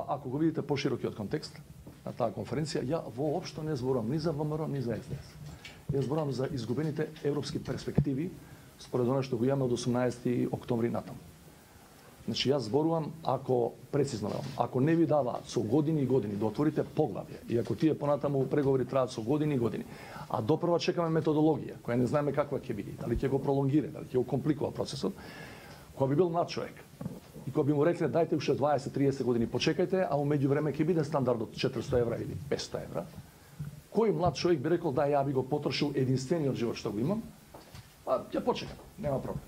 Ако го видите поширокиот контекст на таа конференција, ја воопшто не зборувам ни за ВМРО, ни за СДС. Ја зборувам за изгубените европски перспективи според она што го имаме од 18 октомври натаму. Значи, јас зборувам, ако, прецизно велам, ако не ви даваат со години и години да отворите поглавје, и ако тие понатаму преговори траат со години и години, а допрва чекаме методологија, која не знаеме каква ќе биде, дали ќе го пролонгира, дали ќе го компликува процесот, кој би бил млад човек, и кој би му рекле, дајте уште 20-30 години, почекајте, а умеѓу време ќе биде стандардот 400 евра или 500 евра, кој млад човек би рекол, да, ја би го потрошил единствениот живот што го имам, па ќе почекам, нема проблем.